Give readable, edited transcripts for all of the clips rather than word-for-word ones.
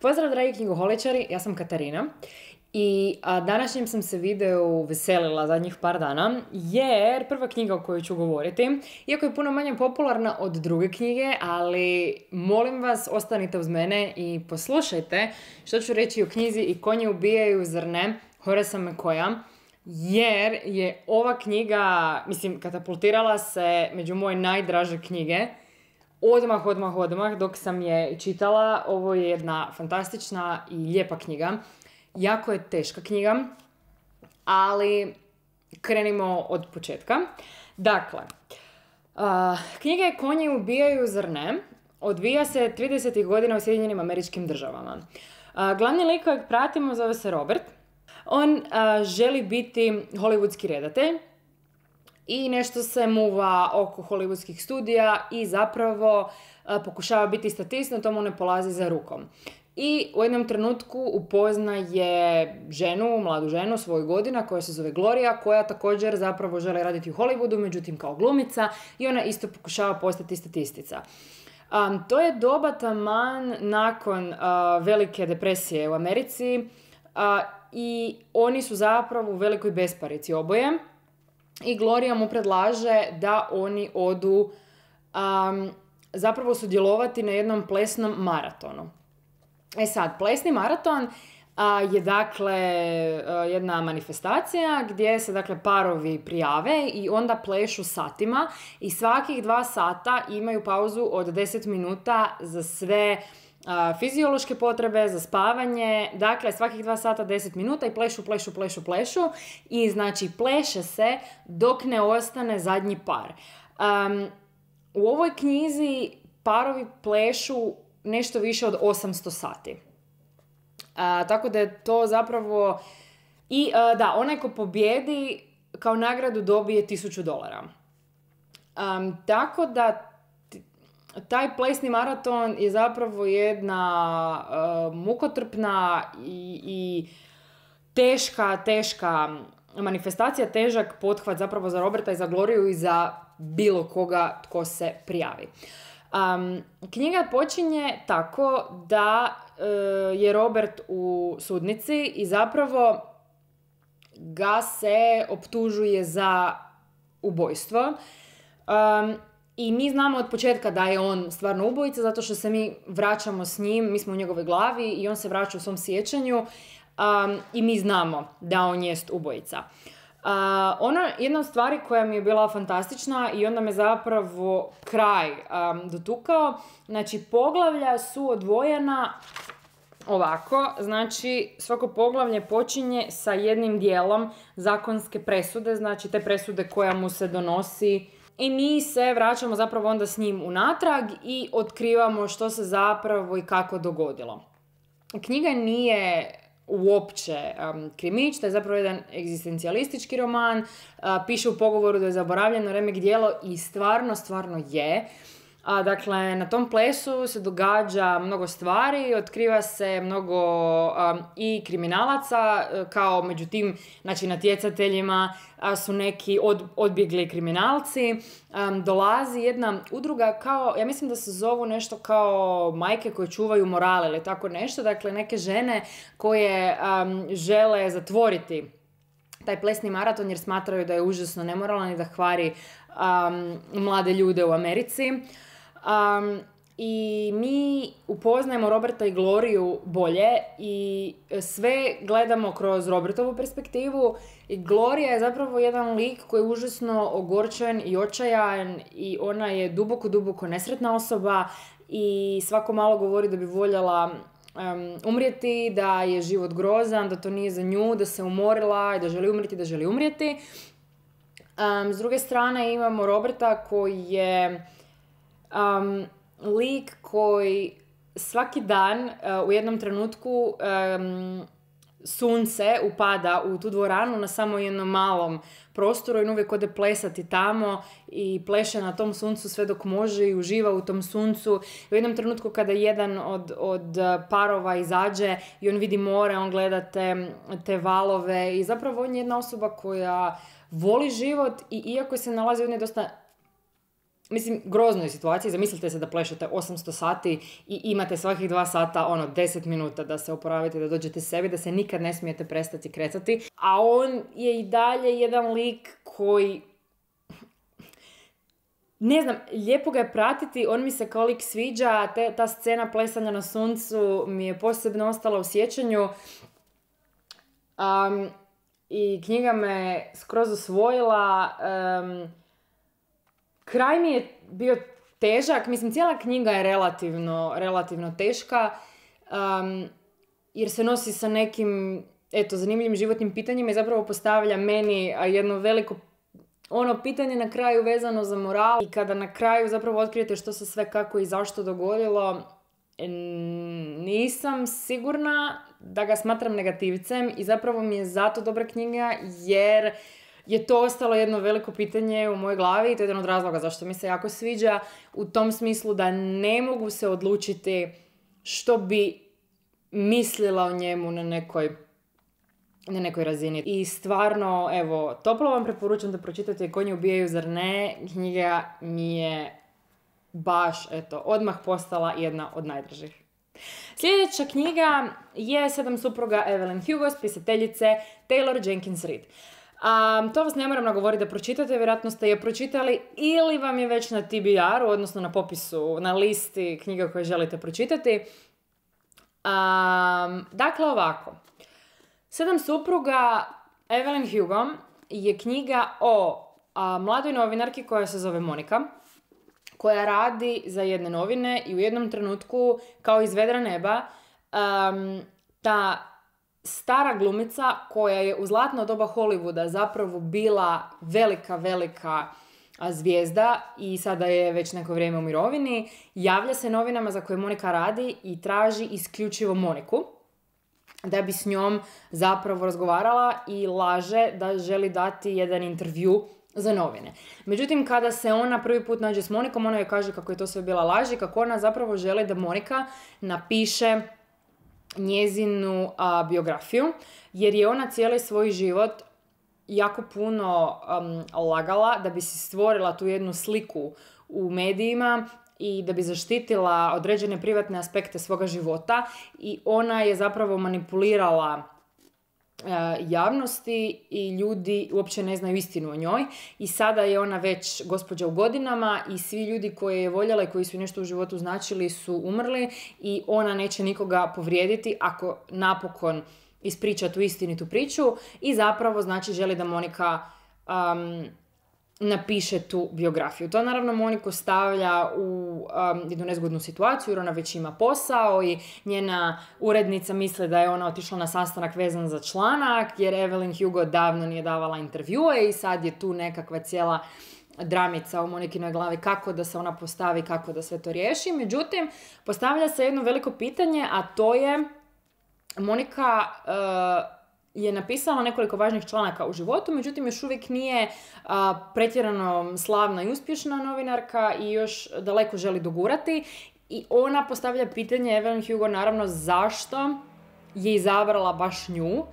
Pozdrav dragi knjigoholičari, ja sam Katarina i današnjem sam se videu veselila zadnjih par dana jer prva knjiga o kojoj ću govoriti, iako je puno manje popularna od druge knjige, ali molim vas ostanite uz mene i poslušajte što ću reći o knjizi I konji ubijaju, zar ne, Horace'a McCoya, jer je ova knjiga, katapultirala se među moje najdraže knjige. Odmah, dok sam je čitala. Ovo je jedna fantastična i lijepa knjiga. Jako je teška knjiga, ali krenimo od početka. Dakle, knjiga je Konji ubijaju, zar ne? Odvija se 30. godina u Sjedinjenim Američkim Državama. Glavni lik kojeg pratimo zove se Robert. On želi biti hollywoodski redatelj i nešto se muva oko hollywoodskih studija i zapravo pokušava biti statist, no to mu ne polazi za rukom. I u jednom trenutku upoznaje mladu ženu svojih godina koja se zove Gloria, koja također zapravo želi raditi u Hollywoodu, međutim kao glumica, i ona isto pokušava postati statistica. To je doba taman nakon velike depresije u Americi i oni su zapravo u velikoj besparici oboje. I Gloria mu predlaže da oni odu zapravo sudjelovati na jednom plesnom maratonu. Sad, plesni maraton je dakle jedna manifestacija gdje se dakle parovi prijave i onda plešu satima i svakih 2 sata imaju pauzu od 10 minuta za sve fiziološke potrebe, za spavanje. Dakle, svakih 2 sata 10 minuta i plešu i znači pleše se dok ne ostane zadnji par. U ovoj knjizi parovi plešu nešto više od 800 sati. Tako da je to zapravo... I onaj ko pobjedi kao nagradu dobije $1000. Tako da taj plesni maraton je zapravo jedna mukotrpna i teška manifestacija, težak pothvat zapravo za Roberta i za Gloriju i za bilo koga tko se prijavi. Knjiga počinje tako da je Robert u sudnici i zapravo ga se optužuje za ubojstvo. I mi znamo od početka da je on stvarno ubojica, zato što se mi vraćamo s njim, mi smo u njegovoj glavi i on se vraća u svom sjećanju i mi znamo da on jest ubojica. Jedna od stvari koja mi je bila fantastična i onda me zapravo kraj dotukao, znači poglavlja su odvojena ovako, znači svako poglavlje počinje sa jednim dijelom zakonske presude, znači te presude koja mu se donosi. I mi se vraćamo zapravo onda s njim unatrag i otkrivamo što se zapravo i kako dogodilo. Knjiga nije uopće krimić, to je zapravo jedan egzistencijalistički roman, piše u pogovoru da je zaboravljeno remek djelo i stvarno je. Dakle, na tom plesu se događa mnogo stvari, otkriva se mnogo i kriminalaca, kao među tim natjecateljima su neki odbjegli kriminalci. Dolazi jedna udruga kao, ja mislim da se zovu nešto kao majke koje čuvaju moral ili tako nešto, dakle neke žene koje žele zatvoriti taj plesni maraton jer smatraju da je užasno nemoralan i da kvari mlade ljude u Americi. I mi upoznajemo Roberta i Gloriju bolje i sve gledamo kroz Robertovu perspektivu i Gloria je zapravo jedan lik koji je užasno ogorčen i očajan i ona je duboko nesretna osoba i svako malo govori da bi voljela umrijeti, da je život grozan, da to nije za nju, da se umorila i da želi umrijeti. S druge strane imamo Roberta koji je lik koji svaki dan u jednom trenutku sunce upada u tu dvoranu na samo jednom malom prostoru i on uvijek ode plesati tamo i pleše na tom suncu sve dok može i uživa u tom suncu. U jednom trenutku kada jedan od parova izađe i on vidi more, on gleda te valove i zapravo on je jedna osoba koja voli život i iako se nalazi u jednoj dosta mislim, groznoj situaciji. Zamislite se da plešete 800 sati i imate svakih 2 sata, 10 minuta da se oporavite, da dođete sebi, da se nikad ne smijete prestati kretati. A on je i dalje jedan lik koji, ne znam, lijepo ga je pratiti, on mi se kao lik sviđa, ta scena plesanja na suncu mi je posebno ostala u sjećanju. I knjiga me skroz osvojila. Kraj mi je bio težak, mislim cijela knjiga je relativno teška, jer se nosi sa nekim, zanimljivim životnim pitanjima i zapravo postavlja meni jedno veliko pitanje na kraju vezano za moral. I kada na kraju zapravo otkrijete što se sve kako i zašto dogodilo, nisam sigurna da ga smatram negativcem i zapravo mi je zato dobra knjiga, jer je to ostalo jedno veliko pitanje u mojoj glavi i to je jedan od razloga zašto mi se jako sviđa, u tom smislu da ne mogu se odlučiti što bi mislila o njemu na nekoj razini. I stvarno, toplo vam preporučam da pročitate Konji ubijaju, zar ne? Knjiga mi je baš, odmah postala jedna od najdražih. Sljedeća knjiga je 7 supruga Evelyn Hugo, spisateljice Taylor Jenkins Reid. To vas ne moram nagovoriti da pročitate, vjerojatno ste je pročitali ili vam je već na TBR-u, odnosno na popisu, na listi knjiga koje želite pročitati. Dakle, ovako. 7 supruga Evelyn Hugo je knjiga o mladoj novinarki koja se zove Monika, koja radi za jedne novine i u jednom trenutku, kao iz vedra neba, ta stara glumica koja je u zlatno doba Hollywooda zapravo bila velika zvijezda i sada je već neko vrijeme u mirovini, javlja se novinama za koje Monika radi i traži isključivo Moniku da bi s njom zapravo razgovarala i laže da želi dati jedan intervju za novine. Međutim, kada se ona prvi put nađe s Monikom, ona joj kaže kako je to sve bila laž i kako ona zapravo želi da Monika napiše njezinu biografiju, jer je ona cijeli svoj život jako puno lagala da bi si stvorila tu jednu sliku u medijima i da bi zaštitila određene privatne aspekte svoga života i ona je zapravo manipulirala javnosti i ljudi uopće ne znaju istinu o njoj i sada je ona već gospođa u godinama i svi ljudi koje je voljela i koji su nešto u životu značili su umrli i ona neće nikoga povrijediti ako napokon ispriča tu istinitu priču i zapravo znači želi da Monika napiše tu biografiju. To naravno Moniku stavlja u jednu nezgodnu situaciju jer ona već ima posao i njena urednica misle da je ona otišla na sastanak vezan za članak jer Evelyn Hugo davno nije davala intervjue i sad je tu nekakva cijela dramica u Monikinoj glavi kako da se ona postavi, kako da sve to riješi. Međutim, postavlja se jedno veliko pitanje, a to je Monika je napisala nekoliko važnih članaka u životu, međutim još uvijek nije pretjerano slavna i uspješna novinarka i još daleko želi dogurati. I ona postavlja pitanje Evelyn Hugo naravno zašto je izabrala baš nju.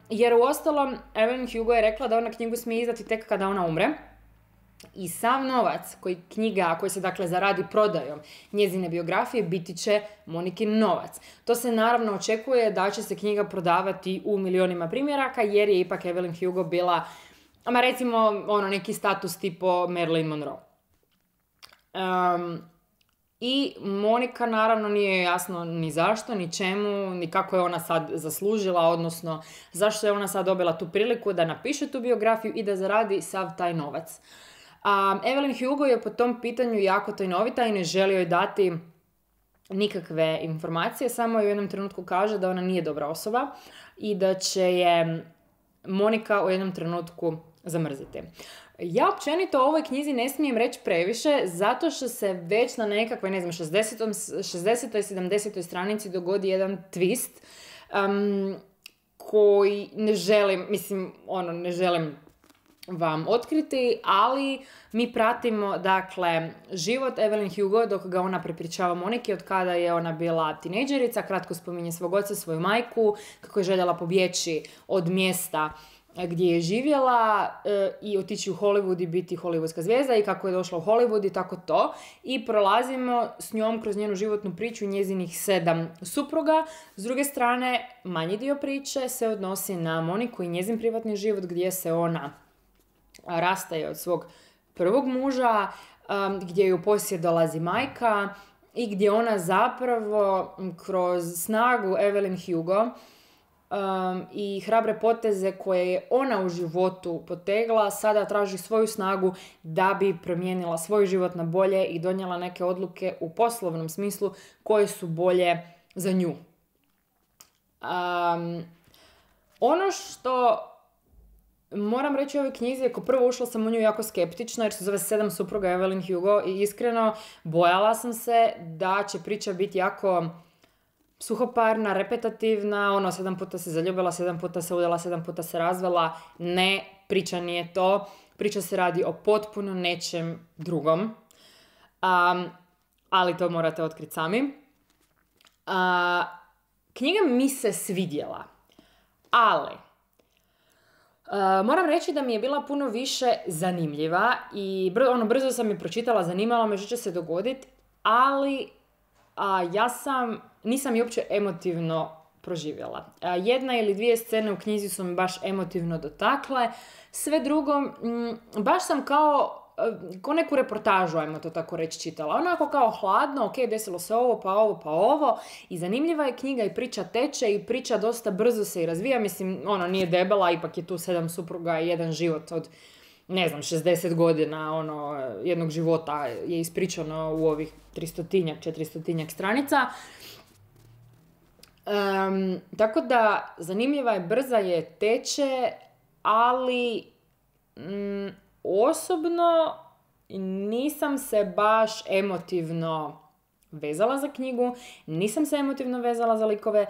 Jer uostalom Evelyn Hugo je rekla da ona knjigu smije izdati tek kada ona umre. I sav novac koji se dakle zaradi prodajom njezine biografije biti će Monikin novac. To se naravno očekuje da će se knjiga prodavati u milionima primjeraka jer je ipak Evelyn Hugo bila, recimo neki status tipo Marilyn Monroe. I Monika naravno nije jasno ni zašto, ni čemu, ni kako je ona sad zaslužila, odnosno zašto je ona sad dobila tu priliku da napiše tu biografiju i da zaradi sav taj novac. Evelyn Hugo je po tom pitanju jako tajnovita i ne želi joj dati nikakve informacije, samo u jednom trenutku kaže da ona nije dobra osoba i da će je Monika u jednom trenutku zamrziti. Ja općenito o ovoj knjizi ne smijem reći previše, zato što se već na nekakvoj, 60. 70. stranici dogodi jedan twist koji ne želim vam otkriti, ali mi pratimo, dakle, život Evelyn Hugo dok ga ona prepričava Moniki od kada je ona bila tinejdžerica, kratko spominje svog oca, svoju majku, kako je željela pobjeći od mjesta gdje je živjela i otići u Hollywood i biti hollywoodska zvijezda i kako je došla u Hollywood i tako to. I prolazimo s njom kroz njenu životnu priču njezinih 7 supruga. S druge strane, manji dio priče se odnosi na Moniku i njezin privatni život gdje se ona rastaje od svog prvog muža, gdje ju poslije dolazi majka i gdje ona zapravo kroz snagu Evelyn Hugo i hrabre poteze koje je ona u životu potegla, sada traži svoju snagu da bi promijenila svoj život na bolje i donijela neke odluke u poslovnom smislu koje su bolje za nju. Ono što moram reći u ovoj knjizi, ako prvo ušla sam u nju jako skeptično jer se zove 7 supruga Evelyn Hugo i iskreno bojala sam se da će priča biti jako suhoparna, repetativna, 7 puta se zaljubila, 7 puta se udala, 7 puta se razvela. Ne, priča nije to. Priča se radi o potpuno nečem drugom. Ali to morate otkriti sami. Knjiga mi se svidjela. Ali moram reći da mi je bila puno više zanimljiva i brzo sam je pročitala, zanimalo me što će se dogoditi, ali nisam je uopće emotivno proživjela. Jedna ili dvije scene u knjizi su me baš emotivno dotakle, sve drugo, baš sam kao neku reportažu, ajmo to tako reći, čitala. Onako kao hladno, ok, desilo se ovo, pa ovo, pa ovo. I zanimljiva je knjiga i priča teče i priča dosta brzo se i razvija. Mislim, nije debela, ipak je tu 7 supruga i jedan život od, 60 godina, jednog života je ispričano u ovih 400 stranica. Tako da, zanimljiva je, brza je, teče, ali osobno nisam se baš emotivno vezala za knjigu, nisam se emotivno vezala za likove.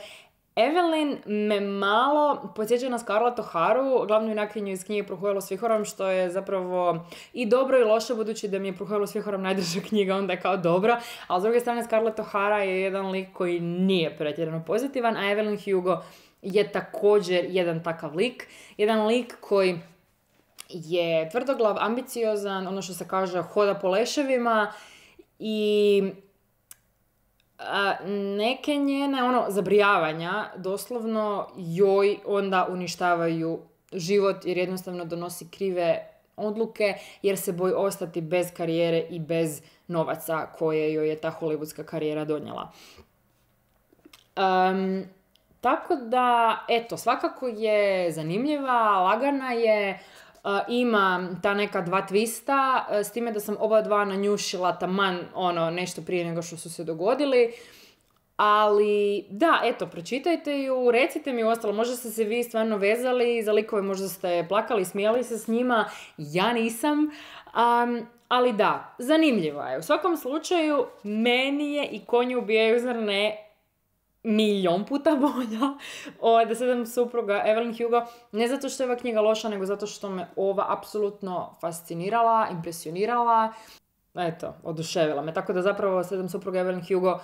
Evelyn me malo podsjeća na Scarlett O'Haru, glavnu junakinju iz knjige Prohujalo s vihorom, što je zapravo i dobro i loše, budući da mi je Prohujalo s vihorom najdraža knjiga, onda je kao dobro, a s druge strane Scarlett O'Hara je jedan lik koji nije pretjerano pozitivan, a Evelyn Hugo je također jedan takav lik, jedan lik koji je tvrdoglav, ambiciozan, ono što se kaže, hoda po leševima i neke njene zabrijavanja doslovno joj onda uništavaju život jer jednostavno donosi krive odluke jer se boji ostati bez karijere i bez novaca koje joj je ta hollywoodska karijera donijela. Tako da, svakako je zanimljiva, lagana je, ima ta neka 2 twista, s time da sam oba 2 nanjušila taman nešto prije nego što su se dogodili. Ali, da, pročitajte ju, recite mi ostalo, možda ste se vi stvarno vezali za likove, možda ste plakali, smijali se s njima, ja nisam, ali da, zanimljiva je. U svakom slučaju, meni je i Konji ubijaju, zar ne, milion puta bolja od 7 supruga Evelyn Hugo, ne zato što je ova knjiga loša, nego zato što me ova apsolutno fascinirala, impresionirala, oduševila me. Tako da zapravo 7 supruga Evelyn Hugo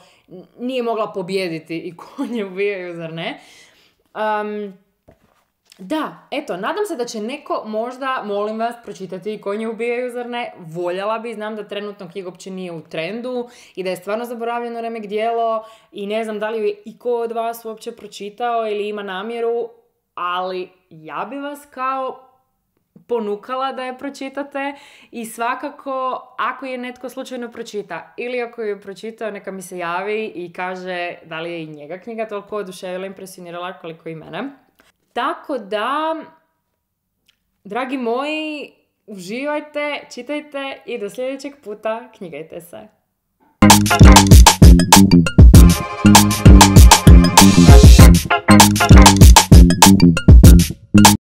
nije mogla pobijediti i Konje ubijaju, zar ne? Da, nadam se da će neko možda, molim vas, pročitati i Konje ubijaju, zar ne? Voljela bi, znam da trenutno knjiga uopće nije u trendu i da je stvarno zaboravljeno remek djelo i ne znam da li ju je iko od vas uopće pročitao ili ima namjeru, ali ja bi vas kao ponukala da je pročitate i svakako ako je netko slučajno pročita ili ako je pročitao neka mi se javi i kaže da li je i njega knjiga toliko oduševila, impresionirala koliko i mene. Tako da, dragi moji, uživajte, čitajte i do sljedećeg puta knjigajte se.